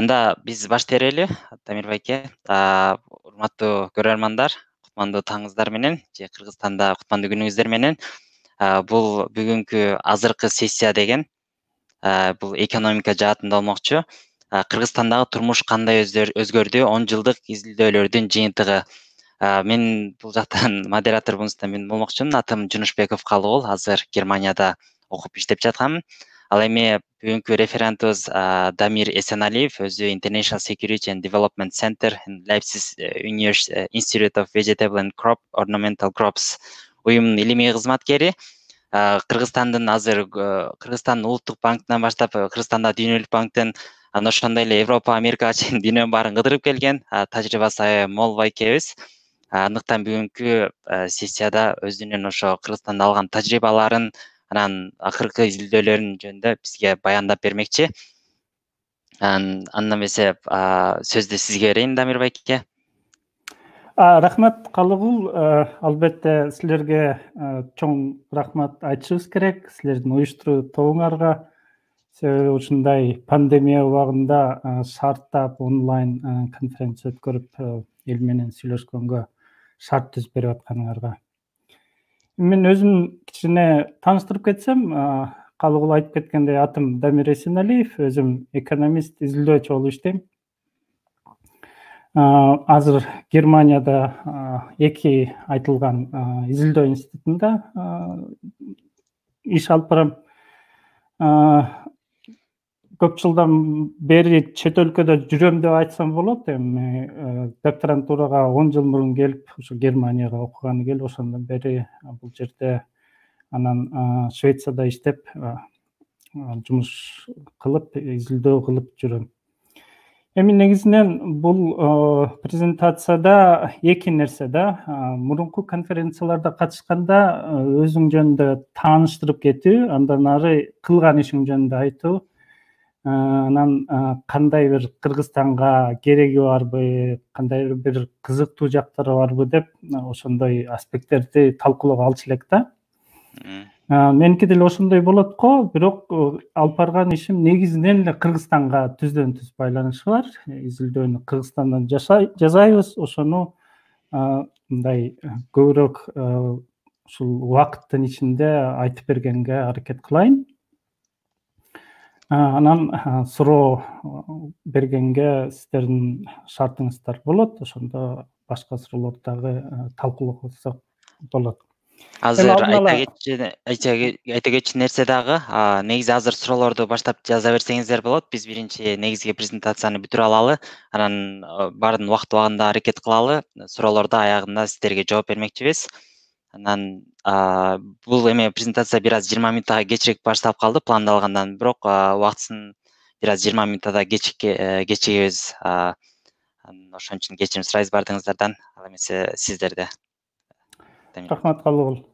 Анда биз баштай берели, Дамир байке. Урматтуу көрөрмандар, кутмандуу таңыңыздар менен же Кыргызстанда кутмандуу күнүңүздөр менен. Бул бүгүнкү азыркы сессия деген бул экономика жаатында болмокчу. Кыргызстандагы турмуш кандай өзгөрдү? 10 жылдык изилдөөлөрдүн жыйынтыгы. Мен бул жактан модератор бунустан мен болмокчумун. Атым Жунушбеков Калыгул, азыр Германияда окуп иштеп жатканмын. Ал эми бүгүнкү референтибиз Дамир Эсеналиев, өзү International Security and Development Center in Leipzig Institute of Vegetable and Crop Ornamental Crops уюмунун илимий кызматкери. Кыргызстандын азыр Кыргызстан улуттук банкынан баштап Кыргызстанда Дүйнөлүк банктен анан ошондой эле Европа, Америкага чейин дүйнөнүн баарын кыдырып келген тажрыйбасы аябай мол байкебиз. Андыктан бүгүнкү сессияда өзүнүн ошо Кыргызстанда алган тажрыйбаларын, анан акыркы изилдөөлөрүн жөнүндө бизге баяндап бермекчи. Андан эмесе сөздү сизге берейин, Дамир байке. Рахмат Калыгул, албетте силерге чоң рахмат айтышыбыз керек, силердин уюштуруу тобуңарга. Себеби ушундай пандемия убагында шарттап онлайн конференция өткөрүп эл менен сүйлөшкөнгө шарт түзүп берип атканыңарга. Мен өзүм кичине тааныштырып кетсем, Калыгул айтып кеткендей, атым Дамир Эсеналиев, өзүм экономист, изилдөөчү болуп иштейм. Азыр Германияда эки айтылган изилдөө институтунда иш алып барам. Көп жылдан бери чет өлкөдө жүрөм деп айтсам болот. Эми докторантурага 10 жыл мурун келип, ошо Германияга окуганы келип, ошондон бери бул жерде анан Швецияда иштеп, жумуш кылып, изилдөө кылып жүрөм. Эми негизинен бул презентацияда эки нерсе да. Мурунку конференцияларда катышканда өзүң жөнүндө тааныштырып кетүү, андан ары кылган ишиң жөнүндө айтуу. Анан кандай бир Кыргызстанга кереги барбы, кандай бир кызыктуу жактары барбы деп ошондой аспекттерди талкуулоого алчу элек да. Меники деле ошондой болот го, бирок алып барган ишим негизинен эле Кыргызстанга түздөн түз байланышы бар. Изилдөөнү Кыргызстандан жасайбыз, ошону мындай көбүрөөк ушул убакыттын ичинде айтып бергенге аракет кылайын. Анан суроо бергенге сиздердин шартыңыздар болот, ошондо башка суроолорду дагы талкууласак болот. Азыр айта кетчү нерсе дагы, негизи азыр суроолорду баштап жаза берсеңиздер болот. Биз биринчи негизги презентацияны бүтүрүп алалы, анан баарын убакыт убагында аракет кылалы. Суроолорду аягында сиздерге жооп бермекчибиз. Анан бул эми презентация бир аз 20 минуттага кечирээк башталып калды пландалгандан, бирок убактысын бир аз 20 минуттада кечигебиз. Ошон үчүн кечирим сурайбыз баардыгыңыздардан. Ал эмесе сиздерде. Рахмат Калыгул.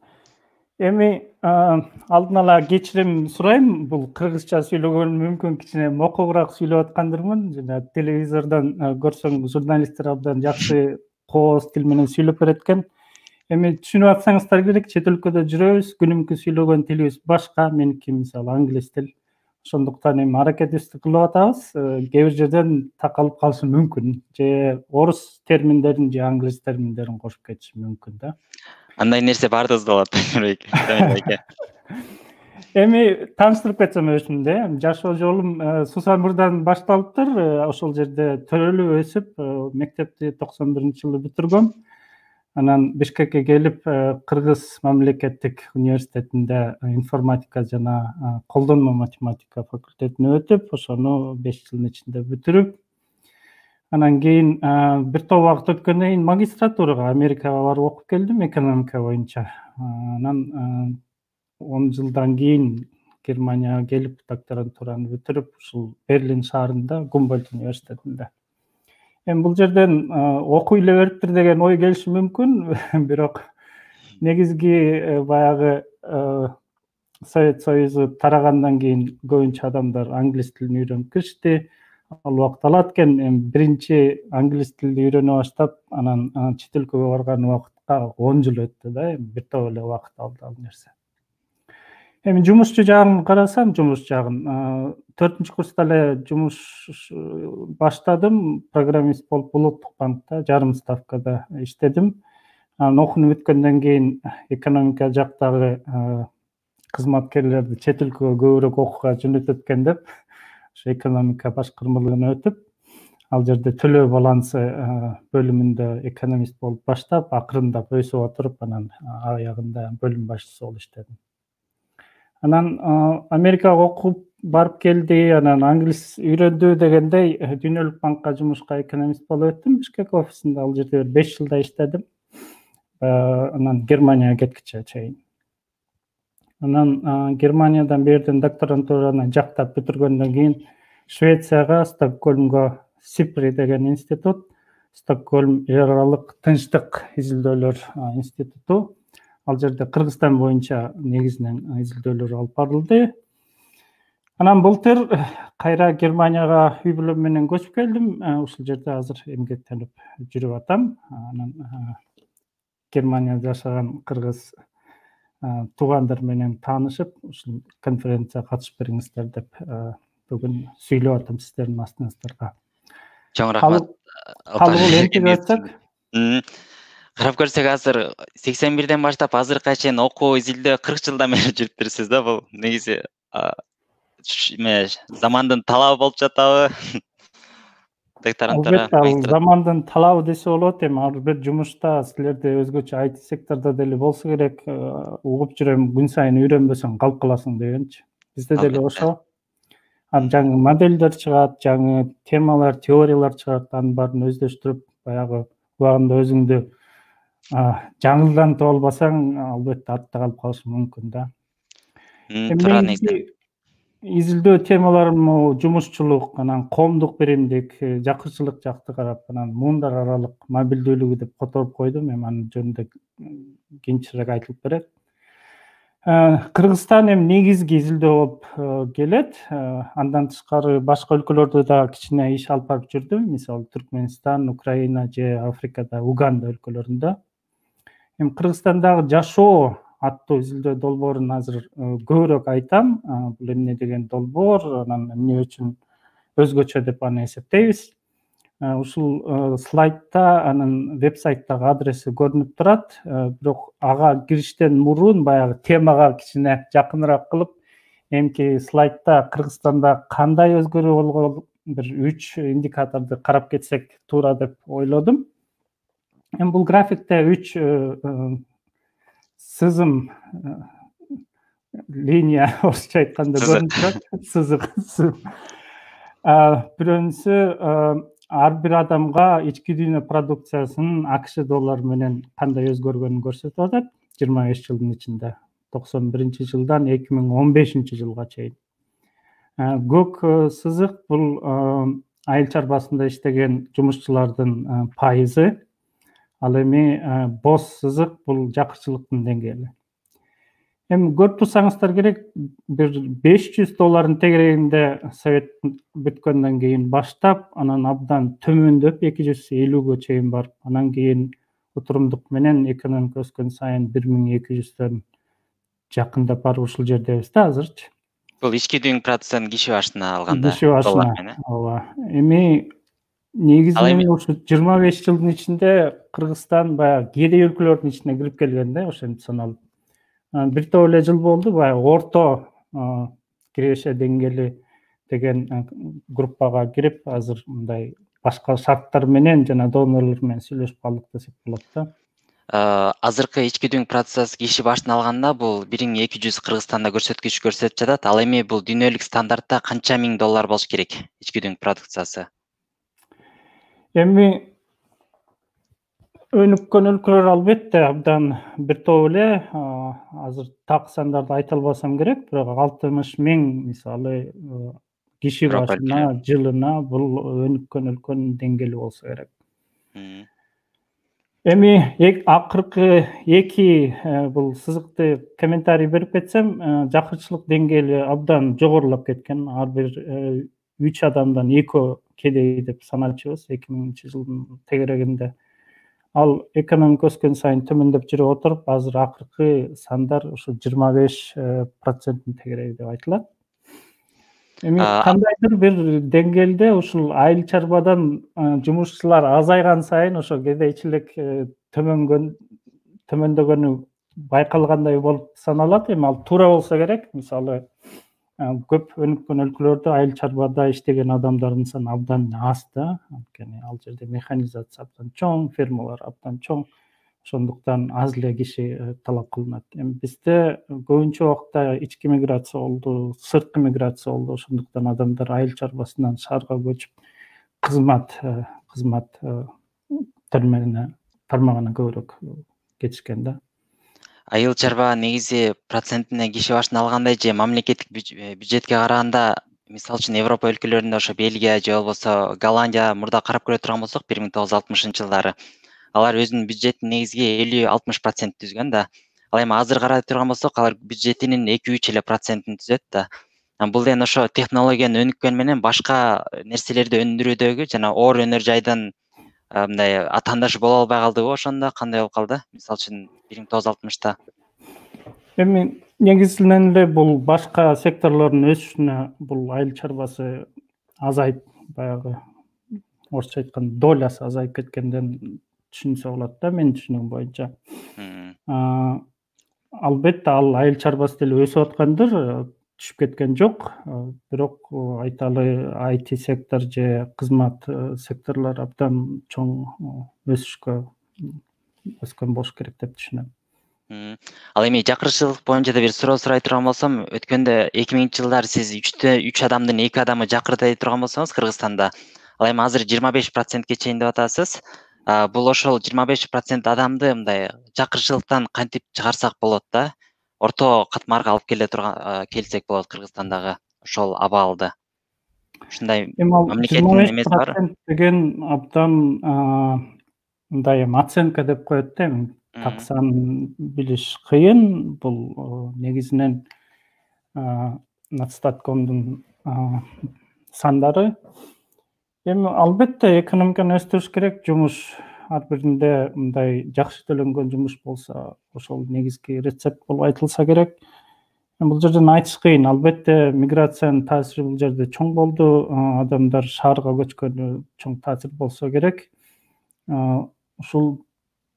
Эми алдын ала кечирим сурайм. Бул кыргызча сүйлөгөнүм мүмкүн кичине мокогураак сүйлөп аткандырмын. Жана телевизордон көрсөң журналисттер абдан жакшы кооз тил менен сүйлөп берет экен. Эми түшүнүп атсаңыздар керек, чет өлкөдө жүрөбүз, күнүмкү сүйлөгөн тилибиз башка, меники мисалы англис тил. Ошондуктан эми аракетибизди кылып атабыз. Кээ бир жерден такалып калышы мүмкүн, же орус терминдерин же англис терминдерин кошуп кетиши мүмкүн да. Андай нерсе баардыгыбызда болот. Эми тааныштырып кетсем өзүмдү, жашоо жолум Сусамырдан башталыптыр. Ошол жерде төрөлүп өсүп, мектепти 91-жылы бүтүргөм. Анан Бишкекке келип, Кыргыз мамлекеттик университетинде информатика жана колдонмо математика факультетин өтүп, ошону 5 жылдын ичинде бүтүрүп, анан кийин бир топ убакыт өткөндөн кийин магистратурага Америкага барып окуп келдим экономика боюнча. Анан 10 жылдан кийин Германияга келип докторантураны бүтүрүп, ушул Берлин шаарында Гумбольдт университетинде. Эми бул жерден окуй эле бериптир деген ой келиши мүмкүн, бирок негизги баягы Совет Союзу тарагандан кийин көбүнчө адамдар англис тилин үйрөнүп киришти. Ал убакыт алат экен. Эми биринчи англис тилди үйрөнө баштап, анан чет өлкөгө барган убакытка 10 жыл өттү да, эми бир топ эле убакыт алды ал нерсе. Эми жумушчу жагын карасам, жумуш жагын 4 курста эле жумуш баштадым. Программист болуп Улуттук банкта жарым ставкада иштедим. Анан окууну бүткөндөн кийин экономика жактагы кызматкерлерди чет өлкөгө көбүрөөк окууга жөнөтөт экен деп, ошо экономика башкармалыгына өтүп, ал жерде төлөө балансы бөлүмүндө экономист болуп баштап, акырындап өсүп отуруп, анан аягында бөлүм башчысы болуп иштедим. Анан Америкага окуп барып келди, анан англис үйрөндү дегендей, Дүйнөлүк банкка жумушка экономист болуп өттүм Бишкек офисинде. Ал жерде 5 жылдай иштедим. Анан Германияга кеткиче чейин. Анан Германиядан берден докторантураны жактап бүтүргөндөн кийин Швецияга, Стокгольмго SIPRI деген институт, Стокгольм эл аралык тынчтык изилдөөлөр институту. Ал жерде Кыргызстан боюнча негизинен изилдөөлөр алып барылды. Анан былтыр кайра Германияга үй бүлөм менен көчүп келдим. Ушул жерде азыр эмгектенип жүрүп атам. Анан Германияда жашаган кыргыз туугандар менен таанышып, ушул конференцияга катышып бериңиздер деп бүгүн сүйлөп атам сиздердин астыңыздарга. Чоң рахмат. Калыбыл энтип өтсөк. Карап көрсөк, азыр 81ден баштап азыркыга чейин окуу изилдөө 40 жылдан бери жүрүптүрсүз да. Бул негизи замандын талабы болуп жатабы? Албетте, ал замандын талабы десе болот. Эми ар бир жумушта силерде өзгөчө IT сектордо деле болсо керек. Угуп жүрөм, күн сайын үйрөнбөсөң калып каласың дегенчи. Бизде деле ошо. Жаңы модельдер чыгат, жаңы темалар, теориялар чыгат, анын баарын өздөштүрүп, баягы убагында өзүңдү жаңылданып албасаң, албетте артта калып калышың мүмкүн да. Изилдөө темаларым жумушчулук, анан коомдук биримдик, жакырчылык жакты карап, анан муундар аралык мобилдүүлүгү деп которуп койдум. Эми анын жөнүндө кийинчерээк айтылып берет. Кыргызстан эми негизги изилдөө болуп келет. Андан тышкары башка өлкөлөрдө да кичине иш алып барып жүрдүм. Мисалы Түркмөнстан, Украина же Африкада, Уганда өлкөлөрүндө. Эми Кыргызстандагы жашоо аттуу изилдөө долбоорун азыр көбүрөөк айтам. Бул эмне деген долбоор, анан эмне үчүн өзгөчө деп аны эсептейбиз. Ушул слайдта анын вебсайттагы адреси көрүнүп турат. Бирок ага кириштен мурун баягы темага кичине жакыныраак кылып, эмки слайдта Кыргызстанда кандай өзгөрүү болгон бир 3 индикаторду карап кетсек туура деп ойлодум. Эми бул графикте 3 сызым, линия орусча айтканда көрүнүп турат. Сызык. Бирөөсү ар бир адамга ички дүйнө продукциясынын АКШ доллары менен кандай өзгөргөнүн көрсөтүп атат 25 жылдын ичинде. 91 жылдан 2015 жылга чейин. Көк сызык бул айыл чарбасында иштеген жумушчулардын пайызы. Ал эми боз сызык бул жакырчылыктын деңгээли. Эми көрүп турсаңыздар керек, бир $500 тегерегинде совет бүткөндөн кийин баштап, анан абдан төмөндөп 250-ге чейин барып, анан кийин отурумдук менен экономика өскөн сайын 1200дөн жакындап барып ушул жердебиз да азырчы. Бул ички дүйнө продукциясынын киши башына алганда. Киши башына. Ооба. Эми негизинен ушу 25 жылдын ичинде Кыргызстан баягы кедей өлкөлөрдүн ичине кирип келген да, ошентип саналып. Бир топ эле жыл болду, баягы орто киреше деңгээли деген группага кирип, азыр мындай башка шарттар менен жана донорлор менен сүйлөшүп калдык десек болот да. Азыркы ички дүйнө продукциясы киши башына алганда бул 1200 Кыргызстанда көрсөткүч көрсөтүп жатат. Ал эми бул дүйнөлүк стандартта канча миң доллар болуш керек ички дүйнө продукциясы? Эми өнүккөн өлкөлөр албетте абдан бир топ эле, азыр так сандарды айта албасам керек, бирок 60 миң мисалы киши башына жылына бул өнүккөн өлкөнүн деңгээли болсо керек. Эми акыркы 2 бул сызыкты комментарий берип кетсем, жакырчылык деңгээли абдан жогорулап кеткен. Ар бир 3 адамдан 2 кедей деп саначубуз 2000 жылдын тегерегинде. ал экономика өскөн сайын төмөндөп жүрүп отуруп, азыр акыркы сандар ушу 25% тегерейт деп айтылат. Эми кандайдыр бир деңгээлде ушул айыл чарбадан жумушчулар азайган сайын ошо кедейчилик төмөндөгөнү байкалгандай болуп саналат. Эми ал туура болсо керек. Мисалы, көп өнүккөн өлкөлөрдө айыл чарбада иштеген адамдардын саны абдан аз да. Анткени ал жерде механизация абдан чоң, фермалар абдан чоң. Ошондуктан аз эле киши талап кылынат. Эми бизде көбүнчө убакта ички миграция болду, сырткы миграция болду. Ошондуктан адамдар айыл чарбасынан шаарга көчүп, кызмат тармагына көбүрөөк кетишкен да. Айыл чарба негизи процентине киши башына алганда же мамлекеттик бюджетке караганда, мисалы үчүн Европа өлкөлөрүндө ошо Бельгия же болбосо Голландия мурда карап көрө турган болсок 1960-жылдары алар өзүнүн бюджетин негизги 50-60% түзгөн да. Ал эми азыр карай турган болсок, алар бюджетинин 2-3 эле процентин түзөт да. Бул деген ошо технологиянын өнүккөнү менен башка нерселерди өндүрүүдөгү жана оор өнөр жайдан мындай атаандаш боло албай калдыбы, ошондо кандай болуп калды? Мисалы үчүн 1960-та. Эми негизинен эле бул башка секторлордун өсүшүнө бул айыл чарбасы азайып, баягы орусча айтканда долясы азайып кеткенден түшүнсө болот да, менин түшүнүгүм боюнча. Албетте ал айыл чарбасы деле өсүп аткандыр, түшүп кеткен жок. Бирок айталы IT сектор же кызмат секторлор абдан чоң өскөн болуш керек деп түшүнөм. Ал эми жакырчылык боюнча да бир суроо сурай турган болсом, өткөндө 2000-жылдары сиз 3 адамдын 2 адамы жакыр дей турган болсоңуз Кыргызстанда, ал эми азыр 25%ке чейин деп атасыз. Бул ошол 25% адамды мындай жакырчылыктан кантип чыгарсак болот да? Орто катмарга алып келсек болот Кыргызстандагы ошол абалды. Ушундай мамлекеттин эмеси бар. 25% деген абдан мындай оценка деп коет да. Таксан билиш кыйын. Бул негизинен Нацстаткомдун сандары. Эми албетте экономиканы өстүрүш керек. Жумуш ар биринде мындай жакшы төлөнгөн жумуш болсо, ошол негизги рецепт болуп айтылса керек. Бул жерден айтыш кыйын. Албетте миграциянын таасири бул жерде чоң болду. Адамдар шаарга көчкөнү чоң таасир болсо керек. Ушул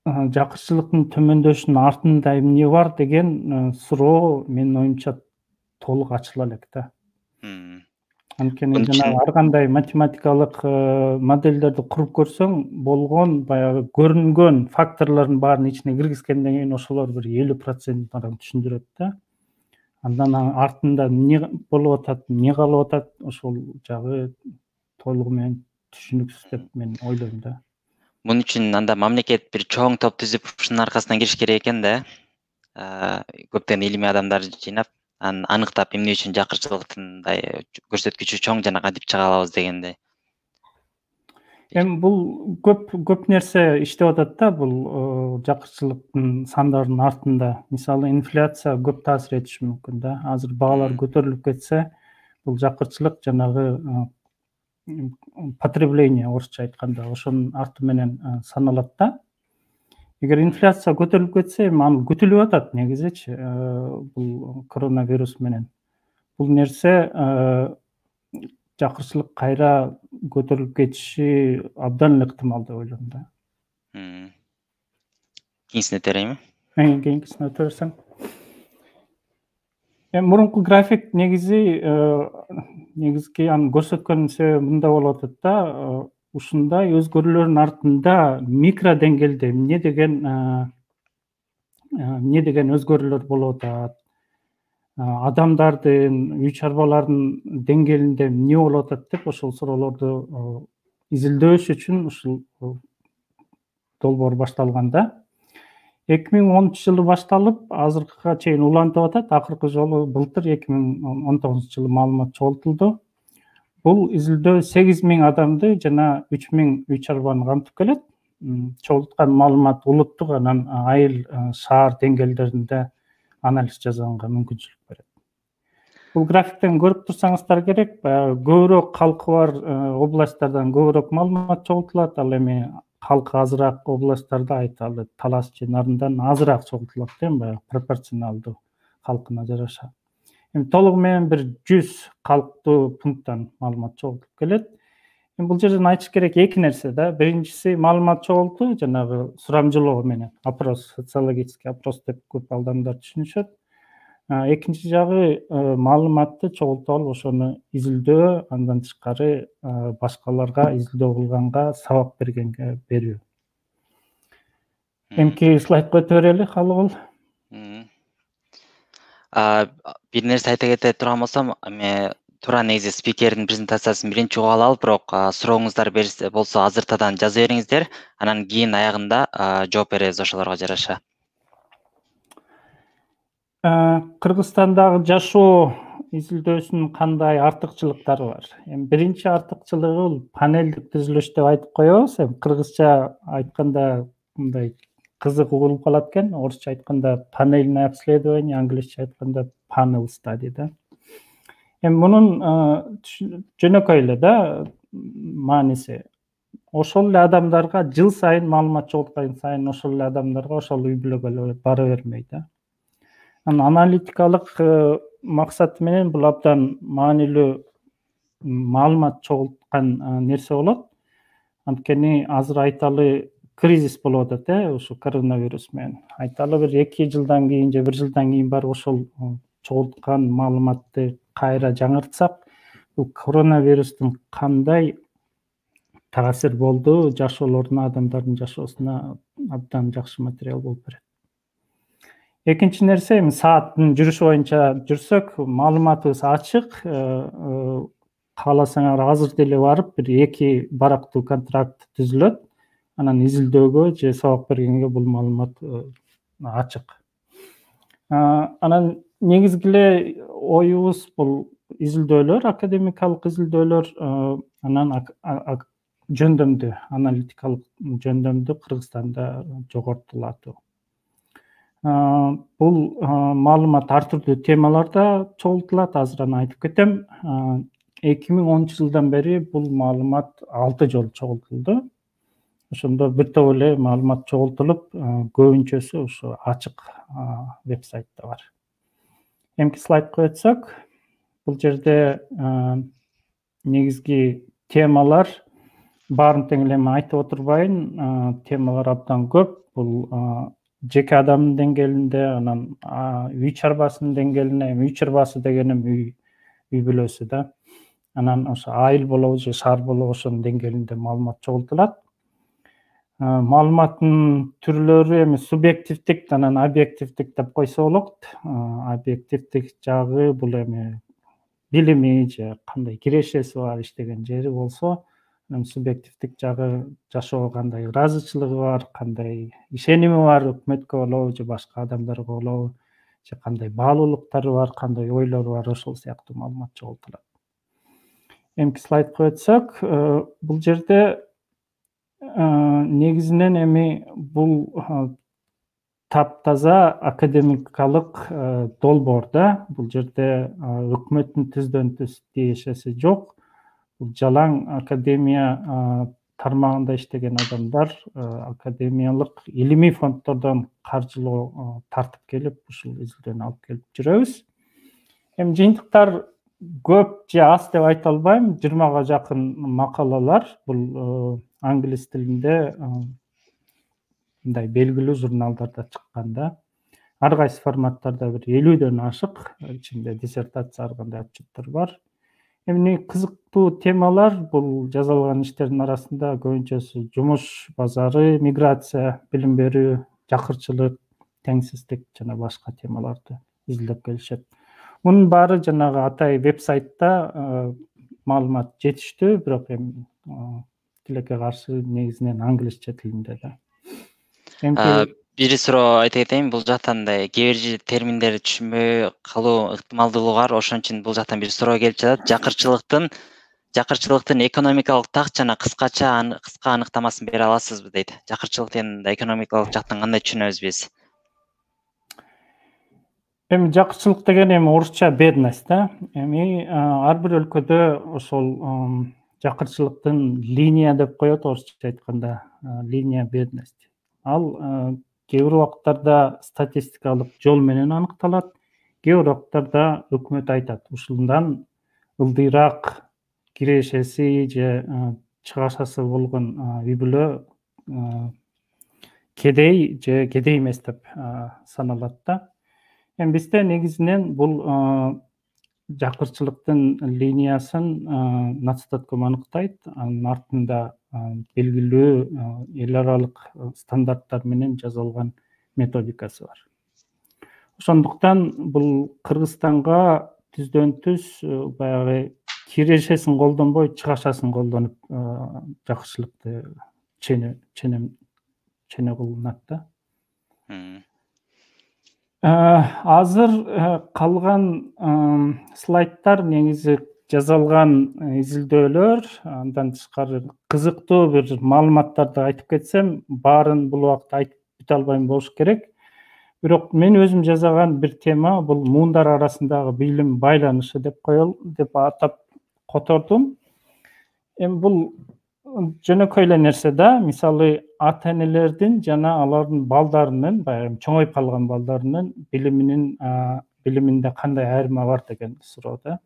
жакырчылыктын төмөндөшүнүн артында эмне бар деген суроо менин оюмча толук ачыла элек да. Анткени жана ар кандай математикалык модельдерди куруп көрсөң, болгон баягы көрүнгөн факторлордун баарын ичине киргизгенден кийин ошолор бир 50% адам түшүндүрөт да. Андан артында эмне болуп атат, эмне калып атат, ошол жагы толугу менен түшүнүксүз деп мен ойлойм да. Мун үчүн анда мамлекет бир чоң топ түзүп, ушунун аркасынан кириш керек экен да. Көптөгөн илимий адамдар жыйнап, аныктап эмне үчүн жакырчылыктын мындай көрсөткүчү чоң жана кантип чыга алабыз дегендей. Эми бул көп нерсе иштеп атат да, бул жакырчылыктын сандарынын артында. Мисалы, инфляция көп таасир этиши мүмкүн да. Азыр баалар көтөрүлүп кетсе, бул жакырчылык жанагы потребление, орусча айтканда, ошонун арты менен саналат да. Эгер инфляция көтөрүлүп кетсе, аны күтүлүп атат негизичи, бул коронавирус менен. Бул нерсе жакырчылык кайра көтөрүлүп кетиши абдан эле ыктымал деп ойлойм да. Кийинкисине өтөрөйүнбү? Кийинкисине өтө берсең. Мурунку график негизги анын көрсөткөн себеби мында болуп атат да. Ушундай өзгөрүүлөрдүн артында микро деңгээлде эмне деген өзгөрүүлөр болуп атат, адамдардын, үй чарбалардын деңгээлинде эмне болуп атат деп ошол суроолорду изилдөөш үчүн ушул долбоор башталган да. 2010-жылы башталып, азыркыга чейин улантып атат. Акыркы жолу былтыр 2019-жылы маалымат чогултулду. Бул изилдөө 8000 адамды жана 3000 үй чарбаны камтып келет. Чогулткан маалымат улуттук, анан айыл, шаар деңгээлдеринде анализ жасаганга мүмкүнчүлүк берет. Бул графиктен көрүп турсаңыздар керек, көбүрөөк калкы бар областтардан көбүрөөк маалымат чогултулат. Ал эми калк азыраак областтарда айталы Талас же Нарындан азыраак чогултулат эми баягы пропорционалдуу калкына жараша. Эми толугу менен бир 100 калктуу пункттан маалымат чогултуп келет. Эми бул жерден айтыш керек эки нерсе да. Биринчиси маалымат чогултуу, жанагы сурамжылоо менен опрос, социологический опрос деп көп адамдар түшүнүшөт. Экинчи жагы маалыматты чогултуп алып ошону изилдөө, андан тышкары башкаларга изилдөө кылганга сабак бергенге берүү. Эмки слайдка өтө берели, калыбыл. Бир нерсе айта кете турган болсом, эми туура негизи спикердин презентациясын биринчи угуп алалы, бирок сурооңуздар болсо азыртадан жаза бериңиздер, анан кийин аягында жооп беребиз ошолорго жараша. Кыргызстандагы жашоо изилдөөсүнүн кандай артыкчылыктары бар? Эми биринчи артыкчылыгы бул панелдик түзүлүш деп айтып коебуз. Эми кыргызча айтканда мындай кызык угулуп калат экен. Орусча айтканда панельное обследование, англисче айтканда panel study да. Эми мунун жөнөкөй эле да мааниси. Ошол эле адамдарга жыл сайын маалымат чогулткан сайын ошол эле адамдарга ошол үй бүлөгө бара бермей да. Аналитикалык максаты менен бул абдан маанилүү маалымат чогулткан нерсе болот. Анткени азыр айталы кризис болуп атат, ушу коронавирус менен. Айталы бир 2 жылдан кийин же 1 жылдан кийин барып ошол чогулткан маалыматты кайра жаңыртсак, бул коронавирустун кандай таасир болду жашоолоруна, адамдардын жашоосуна абдан жакшы материал болуп берет. Экинчи нерсе, эми сааттын жүрүшү боюнча жүрсөк, маалыматыбыз ачык. Кааласаңар азыр деле барып бир 2 барактуу контракт түзүлөт. Анан изилдөөгө же сабак бергенге бул маалымат ачык. Анан негизги эле оюбуз бул изилдөөлөр, академикалык изилдөөлөр, анан жөндөмдүү, аналитикалык жөндөмдүү Кыргызстанда жогортулатуу. Бул маалымат ар түрдүү темаларда чогултулат, азыр аны айтып кетем. 2010-жылдан бери бул маалымат 6 жолу чогултулду. Ошондо бир топ эле маалымат чогултулуп, көбүнчөсү ушу ачык вебсайтта бар. Эмки слайдка өтсөк, бул жерде негизги темалар баарын тең эле айтып отурбайын, темалар абдан көп. Бул жеке адамдын деңгээлинде, анан үй чарбасынын деңгээлинде, үй чарбасы дегеним үй бүлөсү да. Анан ошо айыл болобу же шаар болобу ошонун деңгээлинде маалымат чогултулат. Маалыматтын түрлөрү эми субъективдик, анан объективдик деп койсо болот. Объективдик жагы бул эми билими же кандай кирешеси бар, иштеген жери болсо, анан субъективдик жагы жашоого кандай ыраазычылыгы бар, кандай ишеними бар өкмөткө болобу же башка адамдарга болобу, же кандай баалуулуктары бар, кандай ойлору бар, ошол сыяктуу маалымат чогултулат. Эмки слайдка өтсөк, бул жерде негизинен эми бул таптаза академикалык долбоор да. Бул жерде өкмөттүн түздөн түз тиешеси жок. Бул жалаң академия тармагында иштеген адамдар академиялык илимий фонддордон каржылоо тартып келип, ушул изилдөөнү алып келип жүрөбүз. Эми жыйынтыктар көп же аз деп айта албайм. 20га жакын макалалар, бул англис тилинде мындай белгилүү журналдарда чыккан да. Ар кайсы форматтарда бир 50дөн ашык, ичинде диссертация ар кандай отчеттер бар. Эми кызыктуу темалар бул жазылган иштердин арасында көбүнчөсү жумуш базары, миграция, билим берүү, жакырчылык, теңсиздик жана башка темаларды изилдеп келишет. Мунун баары жанагы атай вебсайтта маалымат жетиштүү, бирок эми тилекке каршы негизинен англисче тилинде да. Бир суроо айта кетейин, бул жактан мындай кээ бир терминдерди түшүнбөй калуу ыктымалдуулугу бар, ошон үчүн бул жактан бир суроо келип жатат. Жакырчылыктын экономикалык так жана кыска аныктамасын бере аласызбы дейт. Жакырчылык дегенди экономикалык жактан кандай түшүнөбүз биз? Эми жакырчылык деген эми орусча бедность да. Эми ар бир өлкөдө ошол жакырчылыктын линия деп коет орусча айтканда, линия бедности. Ал кээ бир убакыттарда статистикалык жол менен аныкталат, кээ бир убакыттарда өкмөт айтат ушундан ылдыйраак кирешеси же чыгашасы болгон үй бүлө кедей же кедей эмес деп саналат да. Эми бизде негизинен бул жакырчылыктын линиясын Нацстатком аныктайт. Анын артында белгилүү эл аралык стандарттар менен жасалган методикасы бар. Ошондуктан бул Кыргызстанга түздөн түз баягы кирешесин колдонбой, чыгашасын колдонуп жакырчылыкты чене кылынат да. Азыр калган слайдтар негизи жасалган изилдөөлөр, андан тышкары кызыктуу бир маалыматтарды айтып кетсем, баарын бул убакта айтып бүтө албайм болуш керек. Бирок мен өзүм жасаган бир тема бул муундар арасындагы билим байланышы деп атап котордум. Эми бул жөнөкөй эле нерсе да. Мисалы, ата-энелердин жана алардын балдарынын, баягы чоңоюп калган балдарынын билиминде кандай айырма бар деген суроо да.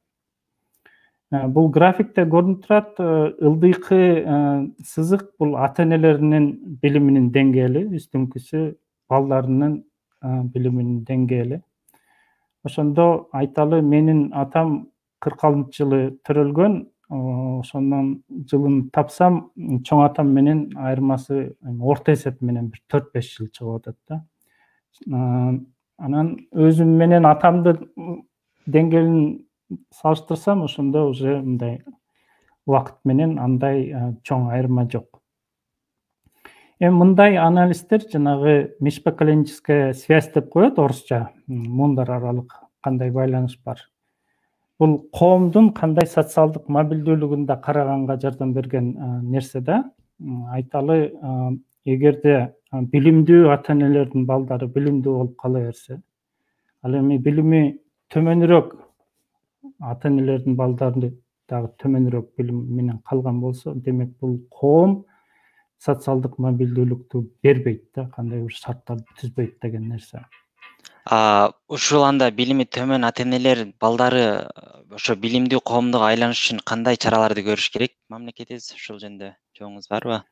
Бул графикте көрүнүп турат, ылдыйкы сызык бул ата-энелеринин билиминин деңгээли, үстүңкүсү балдарынын билиминин деңгээли. Ошондо айталы, менин атам 40-жылы төрөлгөн, ошондон жылын тапсам, чоң атам менен айырмасы орто эсеп менен бир 4-5 жыл чыгып атат да. Анан өзүм менен атамдын деңгээлин салыштырсам, ошондо уже мындай убакыт менен андай чоң айырма жок. Эми мындай анализдер жанагы межпоколенческая связь деп коет орусча, муундар аралык кандай байланыш бар. Бул коомдун кандай социалдык мобилдүүлүгүн караганга жардам берген нерсе да. Айталы, эгерде билимдүү ата-энелердин балдары билимдүү болуп кала берсе, ал эми билими төмөнүрөөк ата-энелердин балдары дагы төмөнүрөөк билим менен калган болсо, демек бул коом социалдык мобилдүүлүктү бербейт да, кандай бир шарттарды түзбөйт деген нерсе. Ушул анда билими төмөн ата-энелер балдары ошо билимдүү коомдук айланыш үчүн кандай чараларды көрүш керек? Мамлекетибиз ушул жөнүндө жоңуңуз барбы?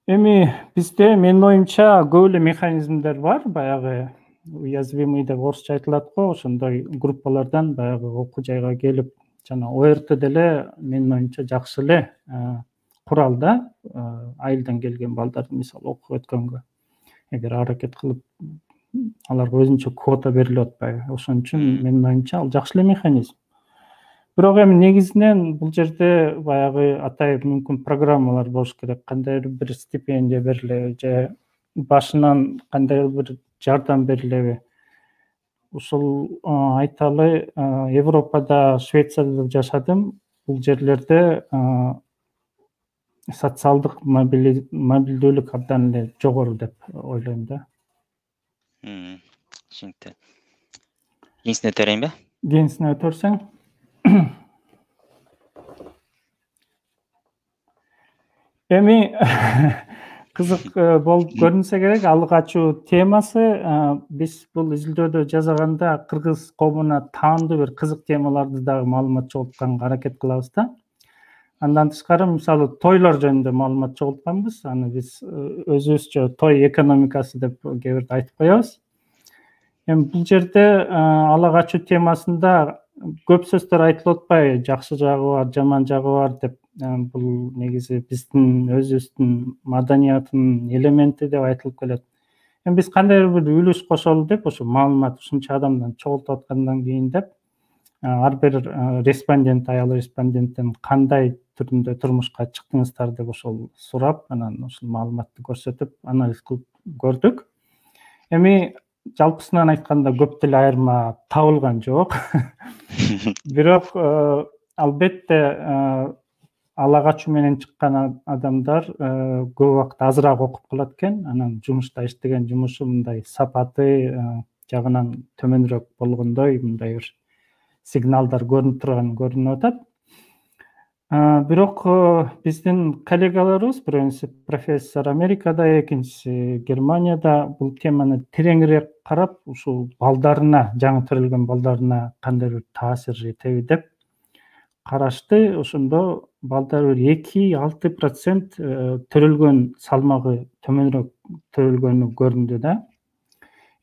Эми бизде менин оюмча көп эле механизмдер бар, баягы уязвимый деп орусча айтылат го, ошондой группалардан баягы окуу жайга келип, жана ОРТ деле менин оюмча жакшы эле курал да, айылдан келген балдарды мисалы окууга өткөнгө. Эгер аракет кылып, аларга өзүнчө квота берилип атпайбы. Ошон үчүн менин оюмча ал жакшы эле механизм. Бирок эми негизинен бул жерде баягы атайын мүмкүн программалар болуш керек. Кандайдыр бир стипендия берилеби же башынан кандайдыр бир жардам берилеби. Ушул айталы, Европада, Швецияда жашадым. Бул жерлерде социалдык мобилдүүлүк абдан эле жогору деп ойлойм да. Түшүнүктүү. Кийинсине өтөрөйүнбү? Кийинсине өтөрсөң. Эми кызык болуп көрүнсө керек, алык ачуу темасы. Биз бул изилдөөдө жасаганда кыргыз коомуна таандуу бир кызык темаларды дагы маалымат чогултканга аракет кылабыз да. Андан тышкары, мисалы, тойлор жөнүндө маалымат чогултканбыз. Аны биз өзүбүзчө той экономикасы деп кээ бирде айтып коебуз. Эми бул жерде алык ачуу темасында көп сөздөр айтылып атпайбы, жакшы жагы бар, жаман жагы бар деп. Бул негизи биздин өзүбүздүн маданиятынын элементи деп айтылып келет. Эми биз кандайдыр бир үлүш кошолу деп, ошо маалымат ушунча адамдан чогултуп аткандан кийин деп, ар бир респондент, аял респонденттен кандай түрүндө турмушка чыктыңыздар деп ошол сурап, анан ошол маалыматты көрсөтүп, анализ кылып көрдүк. Эми жалпысынан айтканда көп деле айырма табылган жок. Бирок албетте алак ачуу менен чыккан адамдар көп убакыт азыраак окуп калат экен. Анан жумушта иштеген жумушу мындай сапаты жагынан төмөнүрөөк болгондой мындай бир сигналдар көрүнүп атат. Бирок биздин коллегаларыбыз, бирөөсү профессор Америкада, экинчиси Германияда бул теманы тереңирээк карап, ушул балдарына, жаңы төрөлгөн балдарына кандай бир таасир этеби деп карашты. Ошондо балдар бир 2–6% төрөлгөн салмагы төмөнүрөөк төрөлгөнү көрүндү да.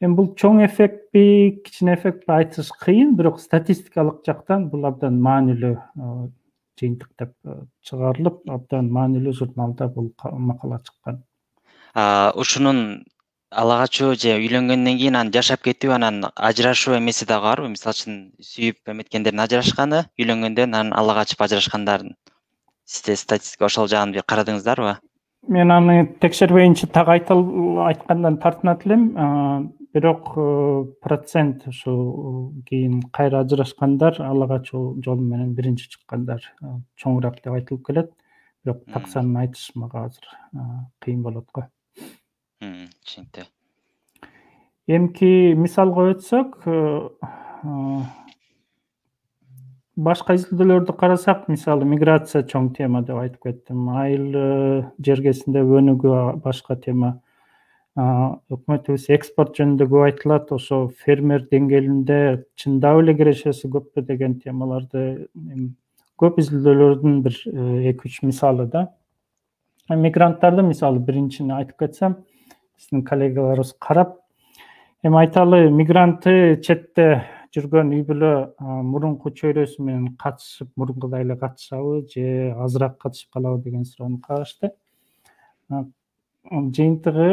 Эми бул чоң эффектпи, кичине эффектпи айтыш кыйын, бирок статистикалык жактан бул абдан маанилүү жыйынтык деп чыгарылып, абдан маанилүү журналда бул макала чыккан. Ушунун ала качуу же үйлөнгөндөн кийин анан жашап кетүү, анан ажырашуу эмеси дагы барбы? Мисалы үчүн сүйүп эметкендердин ажырашканы, үйлөнгөндөн анан ала качып ажырашкандардын. Сизде статистика ошол жагын бир карадыңыздарбы? Мен аны текшербейинче так айткандан тартынат элем. Бирок процент ушу кийин кайра ажырашкандар, ала качуу жолу менен биринчи чыккандар чоңураак деп айтылып келет. Бирок так санын айтыш мага азыр кыйын болот го. Түшүнүктүү. Эмки мисалга өтсөк, башка изилдөөлөрдү карасак, мисалы миграция чоң тема деп айтып кеттим. Айыл жергесиндеги өнүгүү башка тема. Өкмөтүбүз экспорт жөнүндө көп айтылат. Ошо фермер деңгээлинде чындап эле кирешеси көппү деген темаларды көп изилдөөлөрдүн бир 2–3 мисалы да. Мигранттарды мисалы биринчини айтып кетсем, биздин коллегаларыбыз карап, эми айталы, мигранты четте жүргөн үй бүлө мурунку чөйрөсү менен катышып, мурункудай эле катышабы же азыраак катышып калабы деген суроону карашты. Жыйынтыгы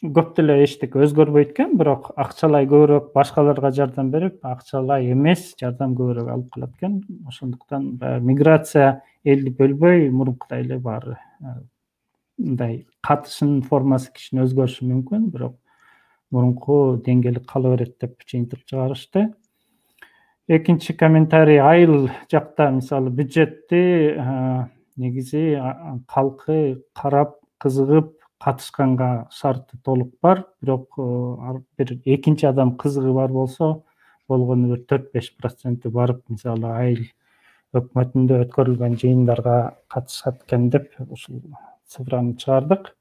көп деле эчтеке өзгөрбөйт экен, бирок акчалай көбүрөөк башкаларга жардам берип, акчалай эмес жардам көбүрөөк алып калат экен. Ошондуктан миграция элди бөлбөй, мурункудай эле баары мындай катышынын формасы кичине өзгөрүшү мүмкүн, бирок мурунку деңгээли кала берет деп жыйынтык чыгарышты. Экинчи комментарий, айыл жакта мисалы бюджетти негизи калкы карап, кызыгып катышканга шарты толук бар, бирок бир экинчи адам кызыгы бар болсо, болгону бир 4–5% барып, мисалы айыл өкмөтүндө өткөрүлгөн жыйындарга катышат экен деп ушул цифраны чыгардык.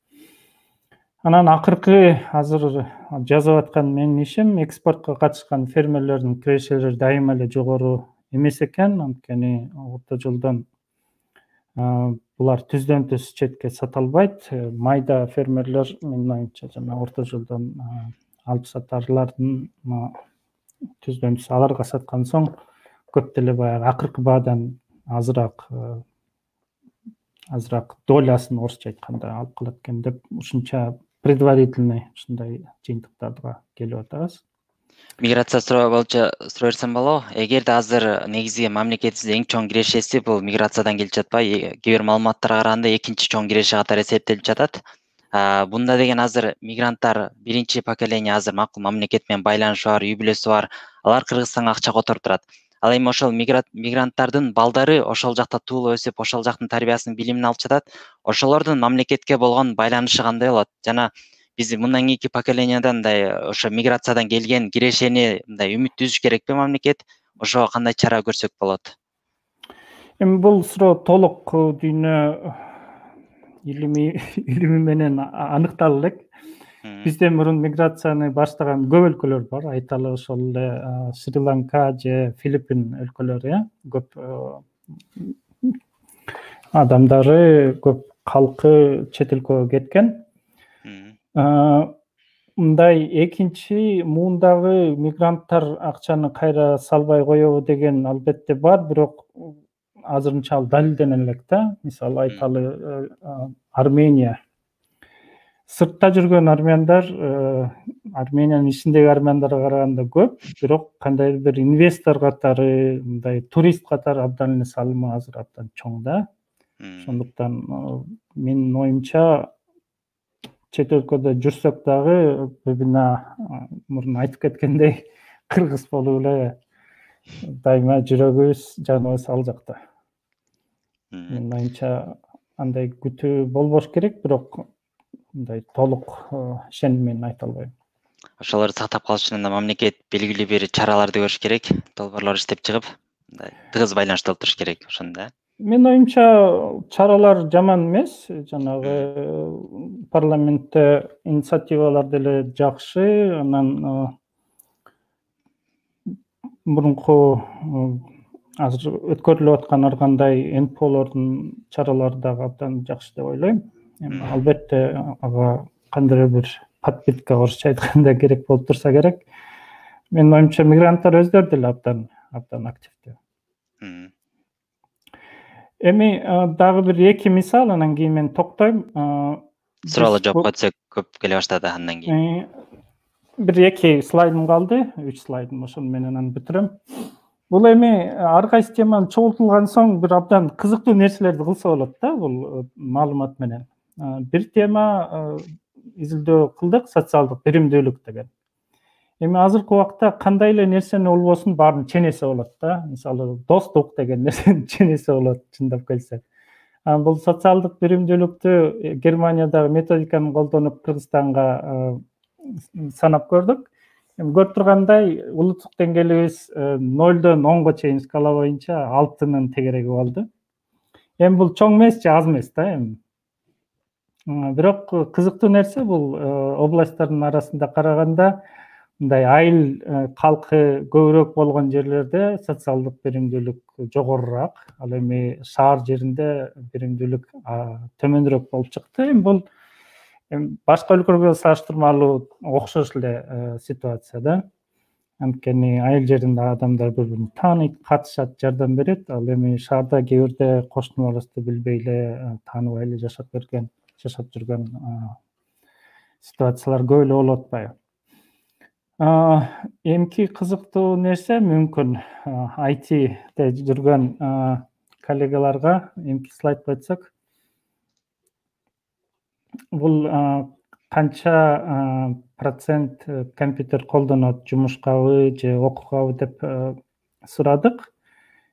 Анан акыркы азыр жазып аткан менин ишим экспортко катышкан фермерлердин кирешелери дайыма эле жогору эмес экен, анткени орто жолдон булар түздөн түз четке сата албайт. Майда фермерлер менин оюмча жана орто жолдон алып сатарлардын түздөн түз аларга саткан соң көп деле баягы акыркы баадан азыраак долясын орусча айтканда алып калат экен деп ушунча предварительный ушундай жыйынтыктарга келип атабыз. Миграция суроо боюнча суроо берсем болобу? Эгерде азыр негизи мамлекетибизде эң чоң кирешеси бул миграциядан келип жатпайбы? Кээ бир маалыматтарга караганда экинчи чоң киреше катары эсептелип жатат. Бунда деген азыр мигранттар биринчи поколение азыр макул мамлекет менен байланышы бар, үй бүлөсү бар. Алар Кыргызстанга акча которуп турат. Ал эми ошол мигранттардын балдары ошол жакта туулуп өсүп, ошол жактын тарбиясын, билимин алып жатат. Ошолордун мамлекетке болгон байланышы кандай болот? Жана биз мындан кийинки поколениядан мындай ошо миграциядан келген кирешени мындай үмүт үзүш керекпи мамлекет? Ошого кандай чара көрсөк болот? Эми бул суроо толук дүйнө илими менен аныктала элек. Бизден мурун миграцияны баштаган көп өлкөлөр бар. Айталы ошол эле Шри-Ланка же Филиппин өлкөлөрү, көп адамдары, көп калкы чет өлкөгө кеткен. Мындай экинчи муундагы мигранттар акчаны кайра салбай коебу деген албетте бар, бирок азырынча ал далилдене элек да. Мисалы айталы Армения. Сыртта жүргөн армяндар Армениянын ичиндеги армяндарга караганда көп, бирок кандайдыр бир инвестор катары, мындай турист катары абдан эле салымы азыр абдан чоң да. Ошондуктан менин оюмча чет өлкөдө жүрсөк дагы көбүнө мурун айтып кеткендей кыргыз болуп эле дайыма жүрөгүбүз, жаныбыз ал жакта. Менин оюмча андай күтүү болбош керек, бирок мындай толук ишеним менен айта албайм. Ошолорду сактап калыш үчүн мамлекет белгилүү бир чараларды көрүш керек, долбоорлор иштеп чыгып. мындай тыгыз байланышта туруш керек ошондо. Менин оюмча чаралар жаман эмес. Жанагы парламентте инициативалар деле жакшы. Анан мурунку азыр өткөрүлүп аткан ар кандай НПОлордун чаралары дагы абдан жакшы деп ойлойм. Эми албетте ага кандайдыр бир подпитка, орусча айтканда, керек болуп турса керек. Менин оюмча мигранттар өздөрү деле абдан активдүү. Эми дагы бир эки мисал, анан кийин мен токтойм. Суроолор жоопко өтсөк көп келе баштады андан кийин. Бир эки слайдым калды, 3 слайдым, ошону менен анан бүтүрөм. Бул эми ар кайсы теманы чогултулган соң бир абдан кызыктуу нерселерди кылса болот да, бул маалымат менен. Бир тема изилдөө кылдык, социалдык беримдүүлүк деген. Эми азыркы убакта кандай эле нерсени болбосун баарын ченесе болот да. Мисалы достук деген нерсени ченесе болот, чындап келсе. Бул социалдык беримдүүлүктү Германиядагы методиканы колдонуп Кыргызстанга санап көрдүк. Эми көрүп тургандай, улуттук деңгээлибиз 0-дон 10го чейин скала боюнча 6-нын тегереги болду. Эми бул чоң эмес же аз эмес да эми. Бирок кызыктуу нерсе бул областтардын арасында караганда мындай айыл калкы көбүрөөк болгон жерлерде социалдык беримдүүлүк жогорураак. Ал эми шаар жеринде беримдүүлүк төмөнүрөөк болуп чыкты. Эми бул башка өлкөлөргө салыштырмалуу окшош эле ситуация да. Анткени айыл жеринде адамдар бири-бирин тааныйт, катышат, жардам берет. Ал эми шаарда кээ бирде кошуналарыбызды билбей эле, тааныбай эле жашап жүргөн ситуациялар көп эле болуп атпайбы. Эмки кызыктуу нерсе мүмкүн IT'де жүргөн коллегаларга эмки слайд койсок. Бул канча процент компьютер колдонот, жумушкабы же окуугабы деп сурадык.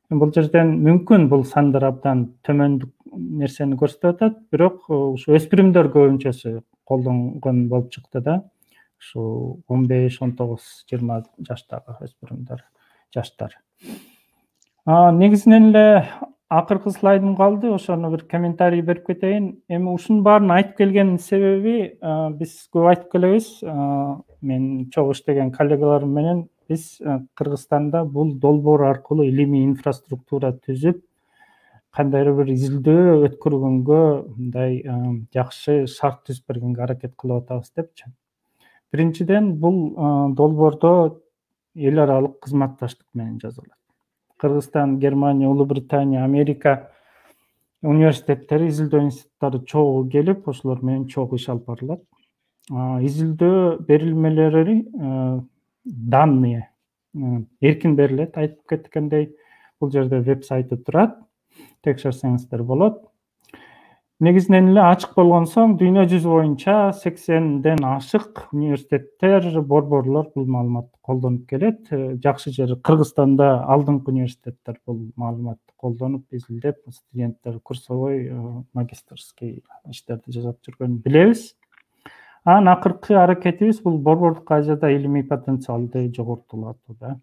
Бул жерден мүмкүн бул сандар абдан төмөндүк нерсени көрсөтүп атат, бирок ушу өспүрүмдөр көбүнчөсү колдонгон болуп чыкты да. Ушу 15, 19, 20 жаштагы өспүрүмдөр, жаштар. Негизинен эле акыркы слайдым калды, ошону бир комментарий берип кетейин. Эми ушунун баарын айтып келгенин себеби биз көп айтып келебиз. Мен чогуу иштеген коллегаларым менен биз Кыргызстанда бул долбоор аркылуу илимий инфраструктура түзүп, кандайдыр бир изилдөө өткөргөнгө мындай жакшы шарт түзүп бергенге аракет кылып атабыз депчи. Биринчиден, бул долбоордо эл аралык кызматташтык менен жазылат. Кыргызстан, Германия, Улуу Британия, Америка университеттери, изилдөө институттары чогуу келип, ошолор менен чогуу иш алып барылат. Изилдөө берилмелери, данные эркин берилет, айтып кеткендей. Бул жерде веб-сайты турат, текшерсеңиздер болот. Негизинен эле ачык болгон соң дүйнө жүзү боюнча 80ден ашык университеттер, борборлор бул маалыматты колдонуп келет. Жакшы жери Кыргызстанда алдыңкы университеттер бул маалыматты колдонуп, изилдеп, студенттер курсовой, магистрский иштерди жасап жүргөнүн билебиз. Анан акыркы аракетибиз бул Борбордук Азияда илимий потенциалды жогортулатуу.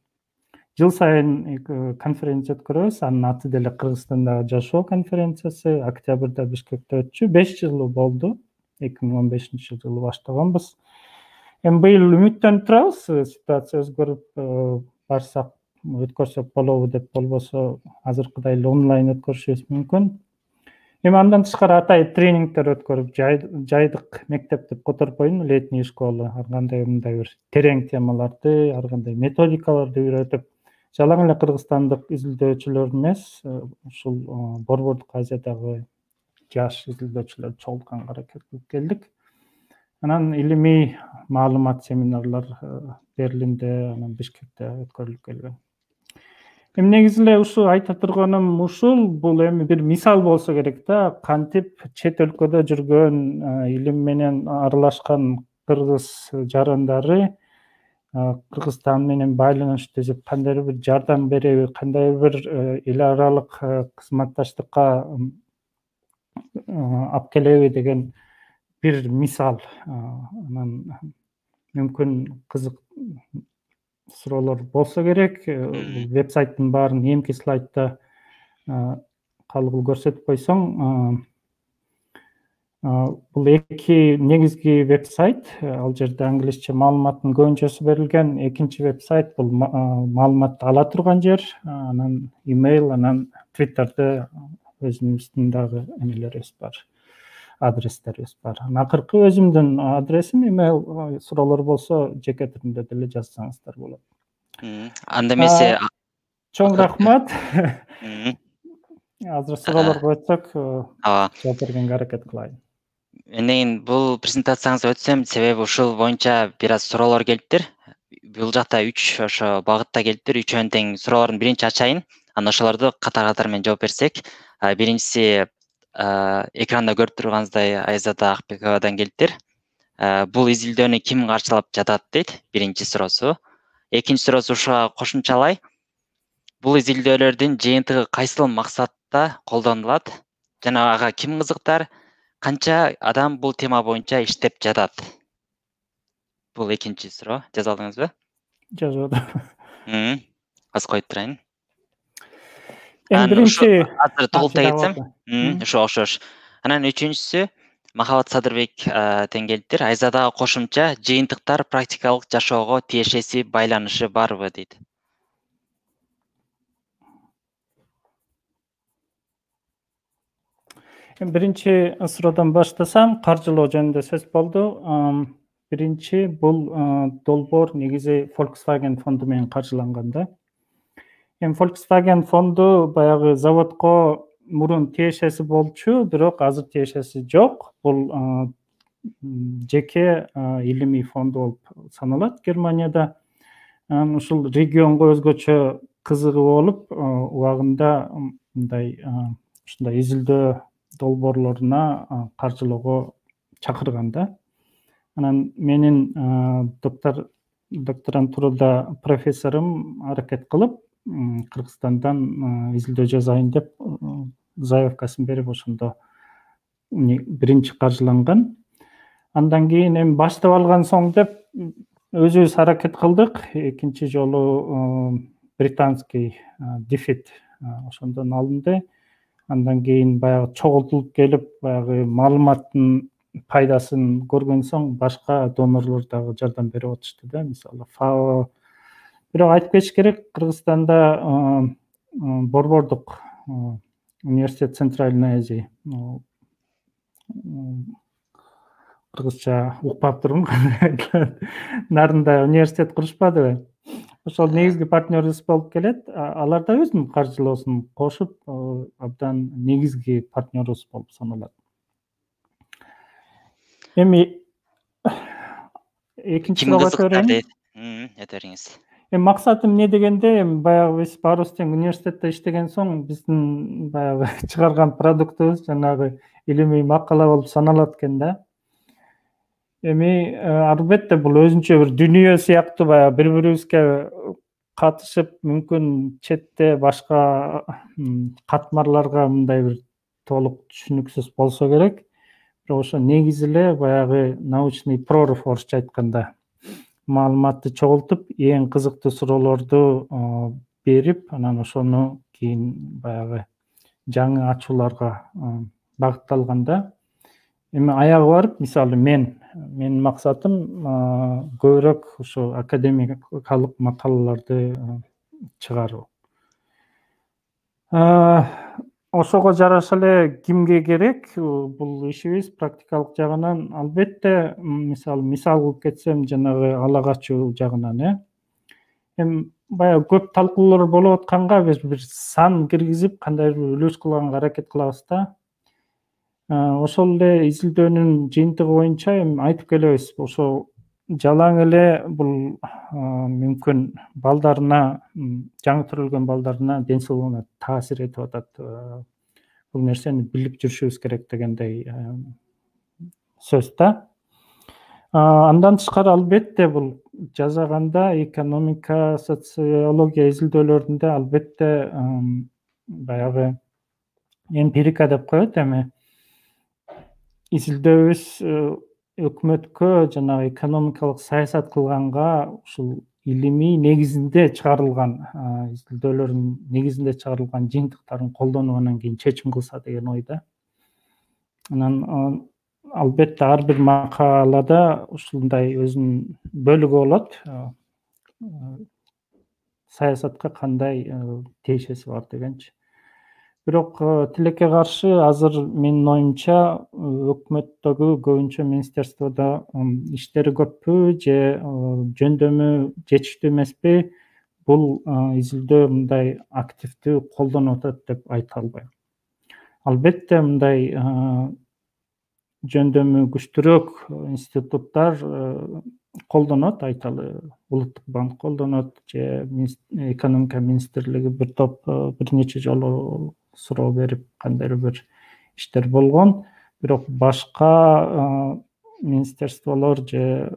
Жыл сайын конференция өткөрөбүз. Анын аты деле Кыргызстандагы жашоо конференциясы. Октябрда Бишкекте өтчү. 5 жыл болду. 2015-жылы баштаганбыз. Эми быйыл үмүттөнүп турабыз. Ситуация өзгөрүп барсак, өткөрсөк болобу деп, болбосо азыркыдай эле онлайн өткөрүшүбүз мүмкүн. Эми андан тышкары атайын тренингдер өткөрүп, жайдык мектеп деп которуп койдум, летний школа. Ар кандай мындай бир терең темаларды, ар кандай методикаларды үйрөтүп, жалаң эле кыргызстандык изилдөөчүлөр эмес, ушул Борбордук Азиядагы жаш изилдөөчүлөрдү чогултканга аракет кылып келдик. Анан илимий маалымат семинарлар Берлинде, анан Бишкекте өткөрүлүп келген. Эми негизи эле ушу айта турганым ушул, бул эми бир мисал болсо керек да, кантип чет өлкөдө жүргөн, илим менен аралашкан кыргыз жарандары Кыргызстан менен байланыш түзүп, кандайдыр бир жардам береби, кандайдыр бир эл аралык кызматташтыкка алып келеби деген бир мисал. Анан мүмкүн кызык суроолор болсо керек. Бул веб-сайттын баарын эмки слайдда калгыл көрсөтүп койсоң, бул эки негизги веб-сайт. Ал жерде англисче маалыматтын көбүнчөсү берилген. Экинчи веб-сайт бул маалыматты ала турган жер, анан имейл, анан Twitter'де өзүбүздүн дагы эмелерибиз бар, адрестерибиз бар. Акыркы өзүмдүн адресим имейл, суроолор болсо жеке түрүндө деле жазсаңыздар болот. Анда эмесе Чоң рахмат. Азыр суроолорго өтсөк, жооп бергенге аракет кылайын. Менден бул презентацияңызды өтсөм, себеби ушул боюнча бир аз суроолор келиптир. Бул жакта 3 ошо багытта келиптир. Үчөөнүн тең суроолордун биринчи ачайын, анан ошолорду катар-катар менен жооп берсек. Биринчиси экранда көрүп турганыңыздай Айзада Акбековадан келиптир. Бул изилдөөнү ким каржылап жатат дейт, биринчи суроосу. Экинчи суроосу ушуга кошумчалай, бул изилдөөлөрдүн жыйынтыгы кайсыл максатта колдонулат жана ага ким кызыктар, канча адам бул тема боюнча иштеп жатат? Бул экинчи суроо. Жаза алдыңызбы? Жазып атам. Аз коюп турайын. Биринчи азыр толуктай кетсем, ушу окшош. Анан үчүнчүсү Махабат Садырбек тең келиптир. Айзадагы кошумча жыйынтыктар практикалык жашоого тиешеси байланышы барбы дейт. Биринчи суроодон баштасам, каржылоо жөнүндө сөз болду. Биринчи бул долбоор негизи Volkswagen фонду менен каржыланган да. Volkswagen фонду баягы заводко мурун тиешеси болчу, бирок азыр тиешеси жок. Бул жеке илимий фонду болуп саналат Германияда. Ушул регионго өзгөчө кызыгы болуп, убагында мындай ушундай изилдөө долбоорлоруна каржылоого чакырган да. Анан менин докторантурада профессорум аракет кылып, Кыргызстандан изилдөө жасайын деп заявкасын берип, ошондо биринчи каржыланган. Андан кийин эми баштап алган соң деп өзүбүз аракет кылдык. Экинчи жолу британский DFID ошондон алынды. Андан кийин баягы чогултулуп келип, баягы маалыматтын пайдасын көргөн соң башка донорлор дагы жардам берип атышты да. Мисалы FAO. Бирок айтып кетиш керек, Кыргызстанда Борбордук университет Центральной Азии, кыргызча укпап турмун. Нарында университет курушпадыбы? Ошол негизги партнерибиз болуп келет. Алар да өзүнүн каржылоосун кошуп, абдан негизги партнерибиз болуп саналат. Эми экинчи суроого өтө бериңиз. Максатым эмне дегенде, баягы биз баарыбыз тең университетте иштеген соң биздин баягы чыгарган продуктубуз жанагы илимий макала болуп саналат экен да. Эми албетте бул өзүнчө бир дүйнө сыяктуу, баягы бири-бирибизге катышып, мүмкүн четте башка катмарларга мындай бир толук түшүнүксүз болсо керек. Бирок ошо негизи эле баягы научный прорыв орусча айтканда маалыматты чогултуп, эң кызыктуу суроолорду берип, анан ошону кийин баягы жаңы ачууларга багытталган да. Эми аягы барып, мисалы менин максатым көбүрөөк ушу академикалык макалаларды чыгаруу. Ошого жараша эле кимге керек бул ишибиз практикалык жагынан? Албетте, мисал кылып кетсем, жанагы ала качуу жагынан, эми баягы көп талкуулар болуп атканга биз бир сан киргизип, кандайдыр бир үлүш кылганга аракет кылабыз да. Ошол эле изилдөөнүн жыйынтыгы боюнча эми айтып келебиз. Ошо жалаң эле бул мүмкүн балдарына, жаңы төрөлгөн балдарына, ден соолугуна таасир этип атат. Бул нерсени билип жүрүшүбүз керек дегендей сөз да. Андан тышкары албетте бул жасаганда экономика, социология изилдөөлөрүндө албетте баягы эмпирика деп коет. Эми изилдөөбүз өкмөткө жанагы экономикалык саясат кылганга ушул илимий негизинде чыгарылган изилдөөлөрдүн негизинде чыгарылган жыйынтыктарын колдонуп анан кийин чечим кылса деген ойда. Анан албетте ар бир макалада ушундай өзүнүн бөлүгү болот. Саясатка кандай тиешеси бар дегенчи. Бирок тилекке каршы азыр менин оюмча өкмөттөгү көбүнчө министерстводо иштери көппү же жөндөмү жетиштүү эмеспи, бул изилдөө мындай активдүү колдонуп атат деп айта албайм. Албетте мындай жөндөмү күчтүүрөөк институттар колдонот, айталы Улуттук банк колдонот же экономика министрлиги бир топ бир нече жолу суроо берип кандайдыр бир иштер болгон. Бирок башка министерстволор же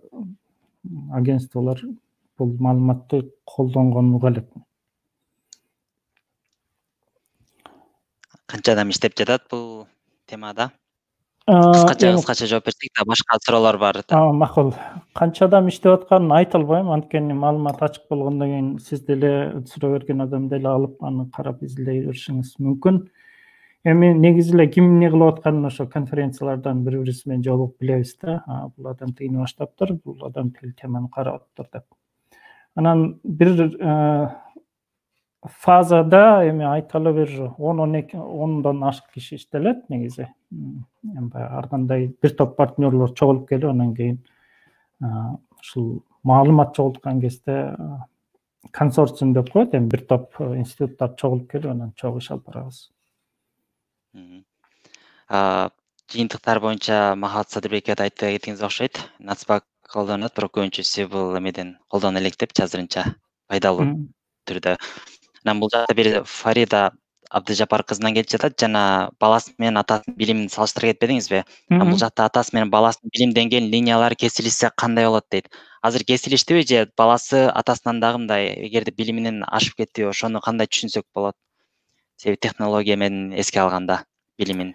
агентстволор бул маалыматты колдонгонун уга элекмин. Канча адам иштеп жатат бул темада? Кыскача жооп берсек да, башка суроолор бар да. Макул. Канча адам иштеп атканын айта албайм, анткени маалымат ачык болгондон кийин сиз деле суроо берген адам деле алып аны карап изилдей беришиңиз мүмкүн. Эми негизи эле ким эмне кылып атканын ошо конференциялардан бири-бирибиз менен жолугуп билебиз да. Бул адам тигини баштаптыр, бул адам тил теманы карап атыптыр деп. Анан бир фазада эми айталы бир 10-12-10дон ашык киши иштелет негизи. Ар кандай бир топ партнерлор чогулуп келип, анан кийин ушул маалымат чогулткан кезде консорциум деп коет, эми бир топ институттар чогулуп келип, анан чогуу иш алып барабыз. Жыйынтыктар боюнча Махат Садырбеков айтып кеткениңиз окшойт. Нацбанк колдонот, бирок көбүнчөсү бул эмеден колдоно элек деп азырынча пайдалуу түрдө. Анан бул жакта бир Фарида Абдыжапар кызынан келип жатат, жана баласы менен атасынын билимин салыштыра кетпедиңизби? Бул жакта атасы менен баласынын билим деңгээлинин линиялары кесилишсе кандай болот дейт. Азыр кесилиштиби же баласы атасынан дагы мындай эгерде билиминен ашып кетти, ошону кандай түшүнсөк болот? Себеби технология менен эске алганда билимин.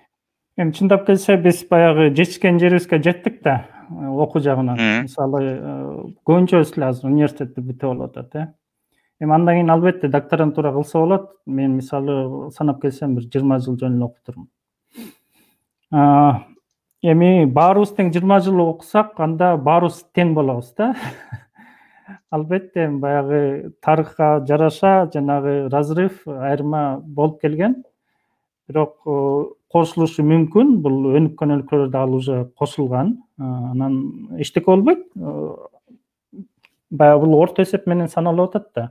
Эми чындап келсе биз баягы жетишкен жерибизге жеттик да, окуу жагынан. Мисалы, көбүнчөбүз эле азыр университетти бүтүп алып атат, Эми андан кийин албетте докторантура кылса болот. Мен мисалы санап келсем бир 20 жыл жөн эле окуптурмун. Эми баарыбыз тең 20 жыл окусак, анда баарыбыз тең болобуз да. Албетте баягы тарыхка жараша жанагы разрыв айырма болуп келген. Бирок кошулушу мүмкүн. Бул өнүккөн өлкөлөрдө ал уже кошулган. Анан эчтеке болбойт. Баягы бул орто эсеп менен саналып атат да.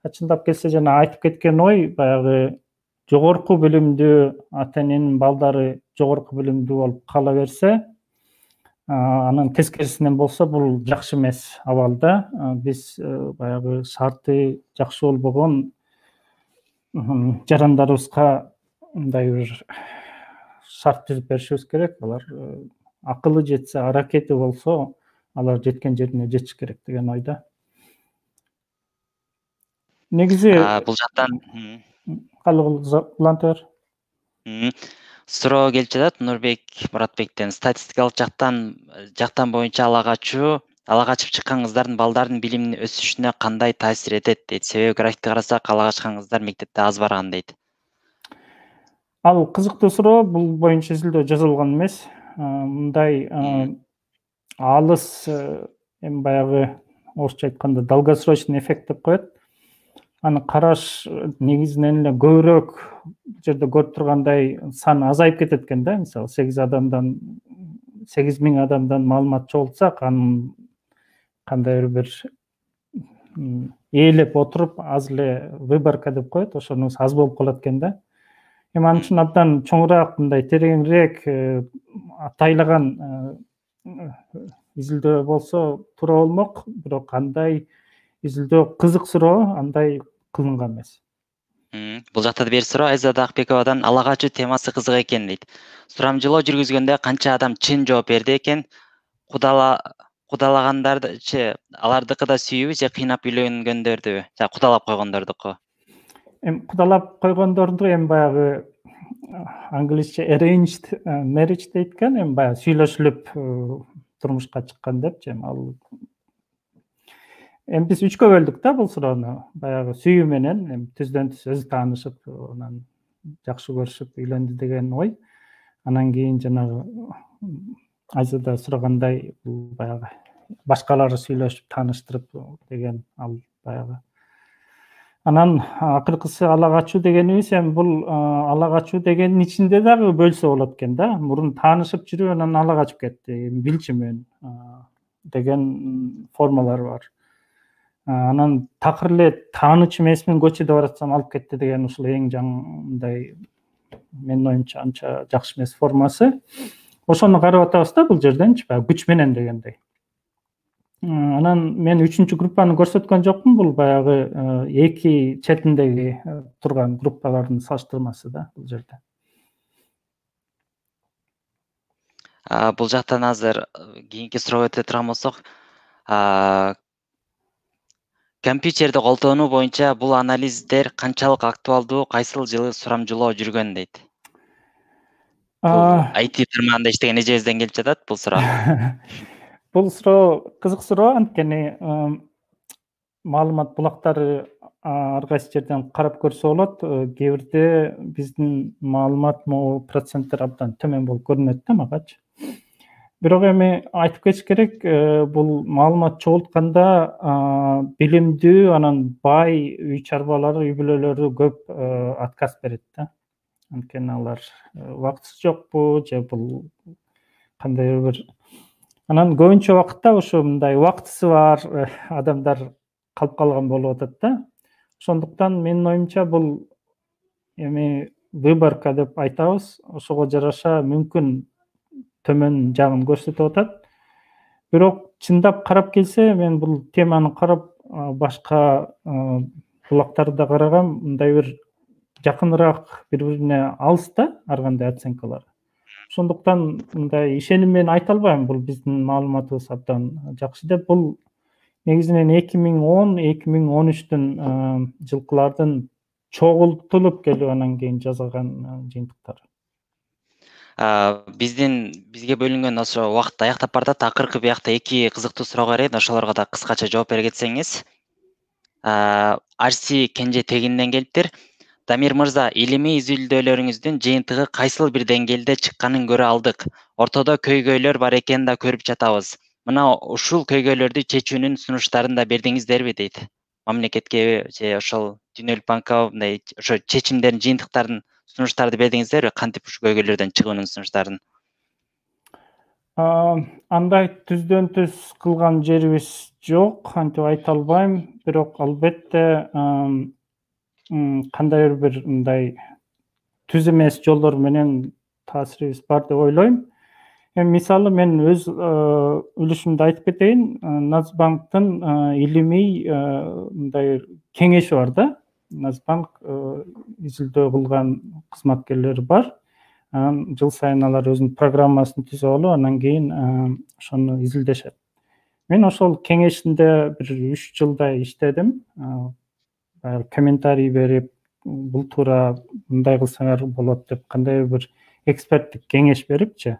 Чындап келсе жана айтып кеткен ой, баягы жогорку билимдүү ата-эненин балдары жогорку билимдүү болуп кала берсе, анан тескерисинен болсо бул жакшы эмес абалда. Биз баягы шарты жакшы болбогон жарандарыбызга мындай бир шарт түзүп беришибиз керек. Алар акылы жетсе, аракети болсо, алар жеткен жерине жетиш керек деген ойда. Негизи бул жактан уланта бер. Суроо келип жатат Нурбек Муратбектен. Статистикалык жактан боюнча ала качып чыккан кыздардын балдардын билиминин өсүшүнө кандай таасир этет дейт. Себеби графикти карасак, ала качкан кыздар мектепте аз барган дейт. Ал кызыктуу суроо, бул боюнча изилдөө жазылган эмес. Мындай алыс эми баягы орусча айтканда долгосрочный эффект деп коет. Аны караш негизинен эле көбүрөөк жерде көрүп тургандай саны азайып кетет экен да. Мисалы 8.000 адамдан маалымат чогултсак, анын кандайдыр бир ээлеп отуруп аз эле выборка деп коет, ошонубуз аз болуп калат экен да. Эми анын үчүн абдан чоңураак, мындай тереңирээк атайлаган изилдөө болсо туура болмок, бирок андай изилдөө кызыксыроо андай кылынган эмес. Бул жакта бир суроо Айзада Акбековадан ала качуу темасы кызык экен дейт. Сурамжылоо жүргүзгөндө канча адам чын жооп берди экен? Кудалагандарды алардыкы да сүйүүбү же кыйнап үйлөнгөндөрдүбү? Кудалап койгондордуку? Эми кудалап койгондорду эми баягы англисче arranged marriage дейт экен. Эми баягы сүйлөшүлүп турмушка чыккан депчи. Ал Эми биз үчкө бөлдүк да бул суроону. Баягы сүйүү менен эми түздөн түз өзү таанышып, анан жакшы көрүшүп үйлөндү деген ой. Анан кийин жанагы Азада сурагандай бул баягы башкалары сүйлөшүп тааныштырып деген ал баягы. Анан акыркысы ала качуу дегенибиз эми бул ала качуу дегендин ичинде дагы бөлсө болот экен да. Мурун таанышып жүрүп анан ала качып кетти, билчү менен деген формалар бар. Анан такыр эле таанычу эмесмин, көчөдө баратсам алып кетти деген ушул эң мындай менин оюмча анча жакшы эмес формасы. Ошону карап атабыз да бул жерденчи, баягы күч менен дегендей. Анан мен 3-группаны көрсөткөн жокмун, бул баягы эки четиндеги турган группалардын салыштырмасы да бул жерде. Бул жактан азыр кийинки суроого өтө турган болсок, компьютерди колдонуу боюнча бул анализдер канчалык актуалдуу, кайсыл жылы сурамжылоо жүргөн дейт. Бул IT тармагында иштеген эжебизден келип жатат бул суроо. Бул суроо кызык суроо, анткени маалымат булактары ар кайсы жерден карап көрсө болот. Кээ бирде биздин маалымат могу проценттер абдан төмөн болуп көрүнөт да магачы. Бирок эми айтып кетиш керек, бул маалымат чогултканда билимдүү, анан бай үй чарбалары, үй бүлөлөрү көп отказ берет да. Анткени алар убактысы жокпу же бул кандайдыр бир. Анан көбүнчө убакытта ошо мындай убактысы бар адамдар калып калган болуп атат да. Ошондуктан менин оюмча бул эми выборка деп айтабыз, ошого жараша мүмкүн төмөн жагын көрсөтүп атат. Бирок чындап карап келсе, мен бул теманы карап башка булактарды да карагам, мындай бир жакыныраак бири-бирине алыс да ар кандай оценкалар. Ошондуктан мындай ишеним менен айта албайм, бул биздин маалыматыбыз абдан жакшы деп. Бул негизинен 2010-2013 жылкылардын чогултулуп келип анан кийин жасалган жыйынтыктар. Бизге бөлүнгөн ошо убакыт аяктап бардат. Акыркы биякта эки кызыктуу суроо бар эди. Ошолорго да кыскача жооп бере кетсеңиз. Арси Кенже Тегинден келиптир. Дамир мырза, илимий изилдөөлөрүңүздүн жыйынтыгы кайсыл бир деңгээлде чыкканын көрө алдык. Ортодо көйгөйлөр бар экенин да көрүп жатабыз. Мына ушул көйгөйлөрдү чечүүнүн сунуштарын да бердиңиздерби дейт. Мамлекетке же ошол Дүйнөлүк банкка мындай ошо чечимдердин жыйынтыктарын сунуштарды бердиңиздерби? Кантип ушул көйгөйлөрдөн чыгуунун сунуштарын? Андай түздөн түз кылган жерибиз жок, антип айта албайм. Бирок албетте кандайдыр бир мындай түз эмес жолдор менен таасирибиз бар деп ойлойм. Эми мисалы мен өз үлүшүмдү айтып кетейин. Нацбанктын илимий мындай кеңеши бар да. Нацбанк изилдөө кылган кызматкерлери бар. Анан жыл сайын алар өзүнүн программасын түзүп алып, анан кийин ошону изилдешет. Мен ошол кеңешинде бир 3 жылдай иштедим. Комментарий берип, бул туура мындай кылсаңар болот деп кандайдыр бир эксперттик кеңеш берипчи.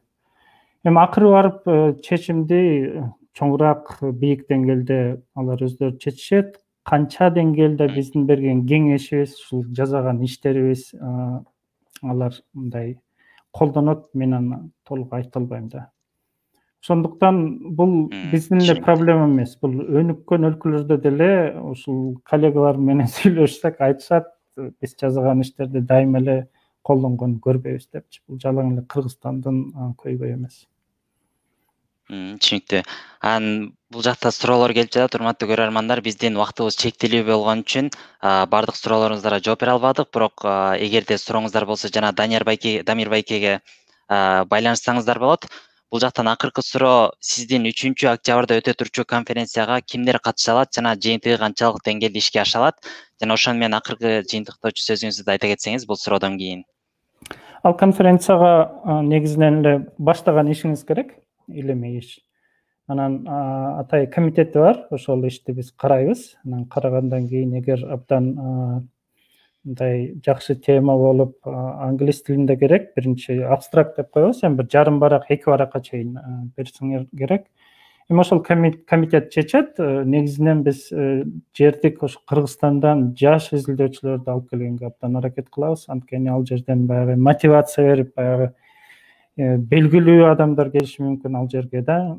Эми акыры барып чечимди чоңураак бийик деңгээлде алар өздөрү чечишет. Канча деңгээлде биздин берген кеңешибиз, ушул жасаган иштерибиз алар мындай колдонот, мен аны толук айта албайм да. Ошондуктан бул биздин эле проблема эмес. Бул өнүккөн өлкөлөрдө деле ушул коллегалар менен сүйлөшсөк айтышат, биз жасаган иштерди дайыма эле колдонгонун көрбөйбүз депчи. Бул жалаң эле Кыргызстандын көйгөйү эмес. Түшүнүктүү. Бул жакта суроолор келип жатат. Урматтуу көрөрмандар, биздин убактыбыз чектелүү болгон үчүн бардык суроолоруңуздарга жооп бере албадык. Бирок эгерде сурооңуздар болсо жана Дамир байкеге байланышсаңыздар болот. Бул жактан акыркы суроо: сиздин 3-октябрда өтө турчу конференцияга кимдер катыша алат жана жыйынтыгы канчалык деңгээлде ишке аша алат? Жана ошону менен акыркы жыйынтыктоочу сөзүңүздү айта кетсеңиз бул суроодон кийин. Ал конференцияга негизинен эле баштаган ишиңиз керек, илимий иш. Анан атай комитети бар, ошол ишти биз карайбыз. Анан карагандан кийин эгер абдан мындай жакшы тема болуп, англис тилинде керек, биринчи абстракт деп коебуз, эми бир жарым барак, 2 баракка чейин берсеңер керек. Эми ошол комитет чечет. Негизинен биз жердик ошо Кыргызстандан жаш изилдөөчүлөрдү алып келгенге абдан аракет кылабыз. Анткени ал жерден баягы мотивация берип, баягы белгилүү адамдар келиши мүмкүн ал жерге да.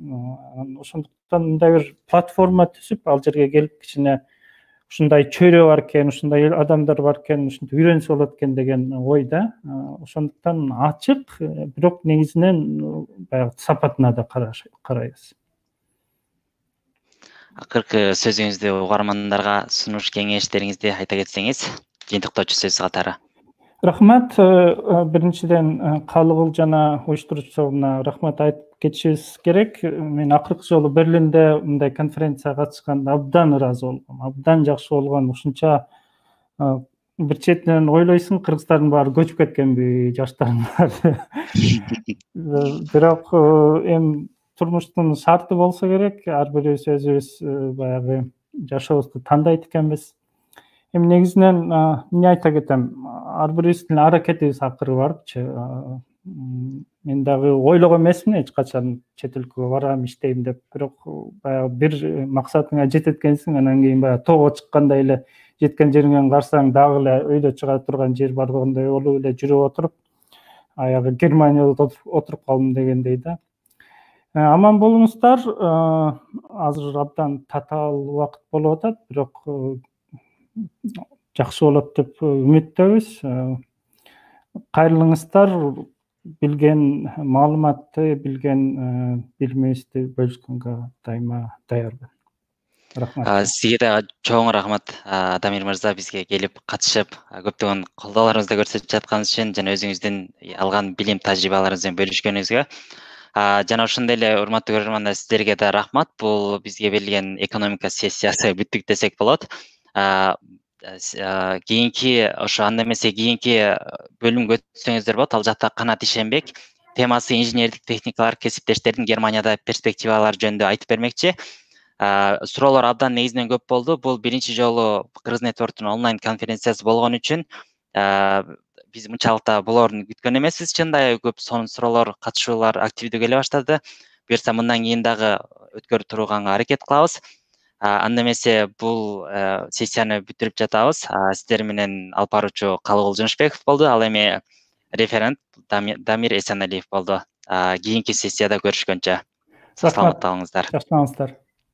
Ошондуктан мындай бир платформа түзүп, ал жерге келип кичине ушундай чөйрө бар экен, ушундай адамдар бар экен, ушинтип үйрөнсө болот экен деген ойда. Ошондуктан ачык, бирок негизинен баягы сапатына да карайбыз. Акыркы сөзүңүздү угармандарга сунуш кеңештериңизди айта кетсеңиз, жыйынтыктоочу сөз катары. Рахмат. Биринчиден Калыгул жана уюштуруучу тобуна рахмат айтып кетишибиз керек. Мен акыркы жолу Берлинде мындай конференцияга катышканда абдан ыраазы болгом. Абдан жакшы болгон. Ушунча бир четинен ойлойсуң, кыргыздардын баары көчүп кеткенби, жаштардын баары. Бирок эми турмуштун шарты болсо керек. Ар бирибиз өзүбүз баягы жашообузду тандайт экенбиз. Эми негизинен эмне айта кетем? Ар бирибиздин аракетибиз акыры барчы. Мен дагы ойлогон эмесмин эч качан чет өлкөгө барам, иштейм деп. Бирок баягы бир максатыңа жетет экенсиң, анан кийин баягы тоого чыккандай эле жеткен жериңен карасаң, дагы эле өйдө чыга турган жер баргандай болуп эле жүрүп отуруп, аягы Германияда отуруп калдым дегендей да. Аман болуңуздар. Азыр абдан татаал убакыт болуп атат, бирок жакшы болот деп үмүттөбүз. Кайрылыңыздар. Билген маалыматты, билген билимибизди бөлүшкөнгө дайыма даярбын. Рахмат. Сизге да чоң рахмат, Дамир мырза, бизге келип катышып, көптөгөн колдоолоруңузду көрсөтүп жатканыңыз үчүн жана өзүңүздүн алган билим тажрыйбаларыңызды бөлүшкөнүңүзгө. Жана ошондой эле урматтуу көрөрмандар, сиздерге да рахмат. Бул бизге берилген экономика сессиясы бүттүк десек болот. Кийинки анда эмесе кийинки бөлүмгө өтсөңүздөр болот. Ал жакта Канат Ишенбек темасы инженердик техникалар кесиптештердин Германияда перспективалары жөнүндө айтып бермекчи. Суроолор абдан негизинен көп болду. Бул биринчи жолу Кыргыз Нетворктун онлайн конференциясы болгон үчүн биз мынчалык да болоорун күткөн эмеспиз. Чындап көп суроолор, катышуулар активдүү келе баштады. Буюрса мындан кийин дагы өткөрүп турганга аракет кылабыз. Анда эмесе бул сессияны бүтүрүп жатабыз. Сиздер менен алып баруучу Калыгул Жынышбеков болду, ал эми референт Дамир Эсеналиев болду. Кийинки сессияда көрүшкөнчө саламатта калыңыздар. Жакшы болуңуздар.